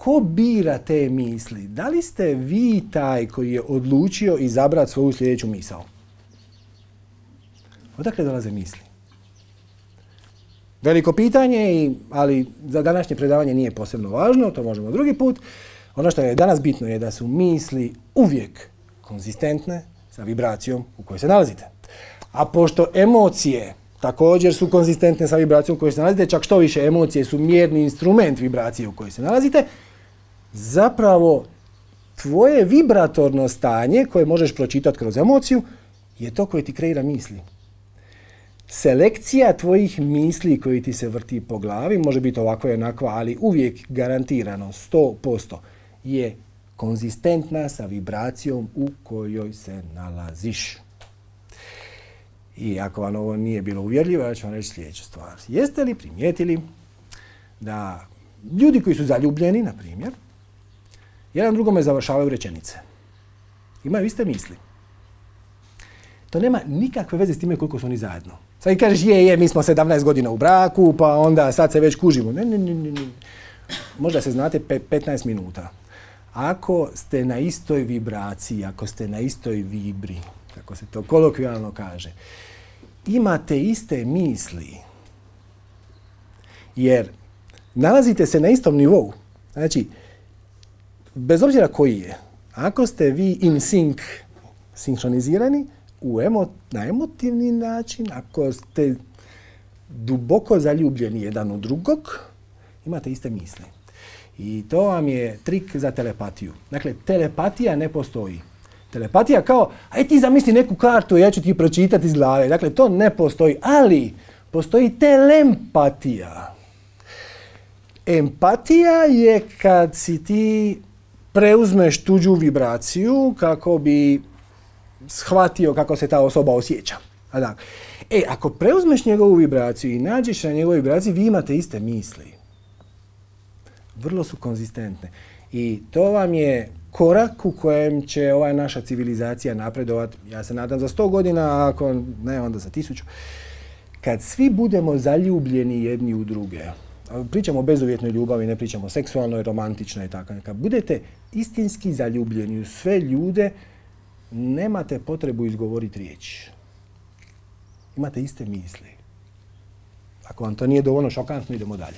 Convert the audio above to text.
ko bira te misli? Da li ste vi taj koji je odlučio izabrati svoju sljedeću misao? Odakle dolaze misli? Veliko pitanje, ali za današnje predavanje nije posebno važno, to možemo drugi put. Ono što je danas bitno je da su misli uvijek konzistentne sa vibracijom u kojoj se nalazite. A pošto emocije također su konzistentne sa vibracijom u kojoj se nalazite, čak što više emocije su mjerni instrument vibracije u kojoj se nalazite, zapravo tvoje vibratorno stanje koje možeš pročitati kroz emociju je to koje ti kreira misli. Selekcija tvojih misli koji ti se vrti po glavi, može biti ovakva i onakva, ali uvijek garantirano 100% je konzistentna sa vibracijom u kojoj se nalaziš. I ako vam ovo nije bilo uvjerljivo, ja ću vam reći sljedeću stvar. Jeste li primijetili da ljudi koji su zaljubljeni, na primjer, jedan drugome završavaju rečenice? Imaju iste misli. To nema nikakve veze s time koliko su oni zajedno. Sad kažeš, mi smo 17 godina u braku, pa onda sad se već kužimo. Ne. Možda se znate 15 minuta. Ako ste na istoj vibraciji, ako ste na istoj vibri, kako se to kolokvijalno kaže, imate iste misli, jer nalazite se na istom nivou. Znači, bez obzira koji je, ako ste vi in sync, sinhronizirani, na emotivni način, ako ste duboko zaljubljeni jedan u drugog, imate iste misli. I to vam je trik za telepatiju. Dakle, telepatija ne postoji. Telepatija kao, aj ti zamisli neku kartu, ja ću ti pročitati iz glave. Dakle, to ne postoji, ali postoji telempatija. Empatija je kad si ti preuzmeš tuđu vibraciju kako bi shvatio kako se ta osoba osjeća. Ako preuzmeš njegovu vibraciju i nađeš na njegovoj vibraciji, vi imate iste misli. Vrlo su konzistentne. I to vam je korak u kojem će ova naša civilizacija napredovati, ja se nadam za 100 godina, a ako ne, onda za 1000. Kad svi budemo zaljubljeni jedni u druge, pričamo o bezuvjetnoj ljubavi, ne pričamo o seksualnoj, romantičnoj i tako. Kad budete istinski zaljubljeni u sve ljude, nemate potrebu izgovoriti riječ. Imate iste misli. Ako vam to nije dovoljno šokantno, idemo dalje.